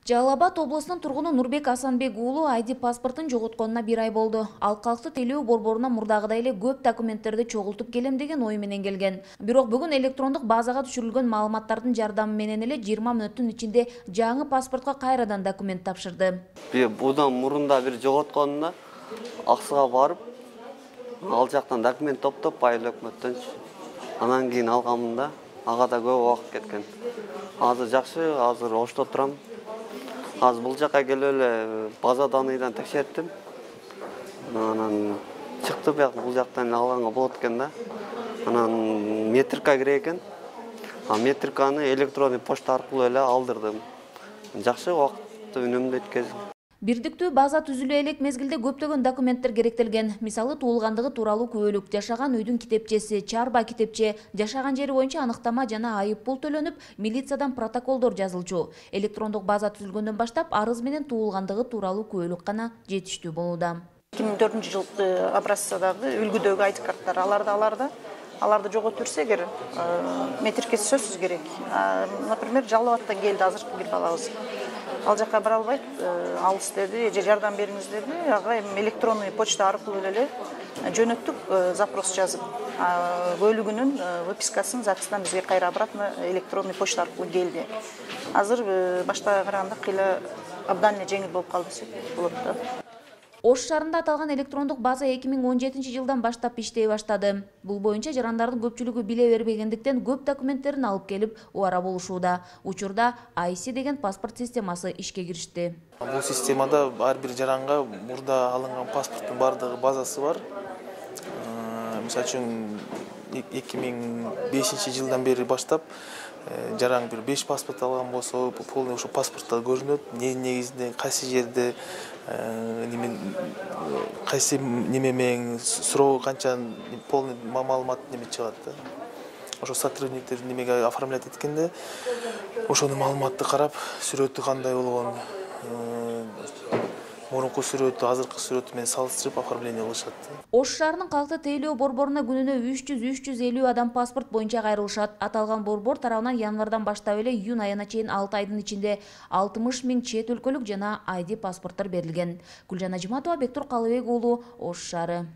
Жалал Абад облусунун тургуну Нурбек Асанбек уулу ID паспортун жоготконуна 1 ай болду. Ал калкты тейлөө борборуна мурдагыдай эле көп документтерди чогултуп келем деген ой менен келген. Бирок бүгүн электрондук базага түшүрүлгөн маалыматтардын жардамы менен эле 20 мүнөттүн ичинде жаңы паспортко кайрадан документ тапшырды. Будан мурунда бир жоготконуна аксыга барып, ал жактан документ топтоп, айыл өкмөттөн анан кийин алганмында ага да көп убакыт кеткен. Азыр жакшы, азыр ошто турам. Азыр бул жакка келип эле база данныйдан текшерттим. Анан чыкты, бияк бул жактан алганга болот экен да. Анан метрика керек экен. Метриканы электронный почта аркылуу эле алдырдым. Жакшы убакытты үнөмдү өткөздүм. Бирдиктүү база түзүлө элек мезгилде көптөгөн документтер керектелген. Мисалы туулгандыгы тууралуу күбөлүк, жашаган үйдүн китепчеси, чарба китепче, жашаган жери боюнча аныктама жана айып пул төлөнүп, милициядан протоколдор жазылчу. Электрондук база түзүлгөндөн баштап арыз менен туулгандыгы тууралуу күбөлүк гана жетиштүү болууда. 2004-жылкы образцадагы үлгүдөгү айти карттар аларды жоготуп жүрсө эгер метрикеси сөзсүз керек. Например, Жалал Абадтан келди азыркы бир балабыз. Ал жакка бара албайт, алыс деди, же жардам бериңиз деди. Ага эми электронный почта аркылуу эле жөнөттүк, запрос жазып, бөлүгүнүн выпискасын, записынан бизге кайра обратно электронный почта аркылуу келди. Азыр баштага караганда кыйла абдан эле жеңил болуп калды десек болот да. Ош шаарында аталган электрондук база 2017-жылдан баштап иштей баштады. Бул боюнча жарандардын көпчүлүгү биле бербегендиктен көп документтерин алып келип убара болушууда. Учурда IC деген паспорт системасы ишке киришти. Бул системада ар бир жаранга мурда алынган паспорттун бардыгы базасы бар. Мисалы үчүн 2005-жылдан бери баштап жаран бир 5 паспорт алган болсо, полный ошо паспортто көрүнөт, негизинде кайсы жерде кайсы неме менен суроо канча полный маалымат неме чыгат да. Ошо сотрудниктер немеге оформлять эткенде ошонун маалыматты карап, сүрөтү кандай болгон, мурунку сүрөтү, азыркы сүрөтү менен салыштырып оформление кылышат. Ош шаарынын калкты тейлөө борборуна күнүнө 300-350 адам паспорт боюнча кайрылышат. Аталган борбор тарабынан январдан баштап эле июнь айына чейин 6 айдын ичинде 60 000 чет өлкөлүк жана ID паспорттор берилген. Гүлжан Ажиматова, Бектур Калыбек уулу, Ош шаары.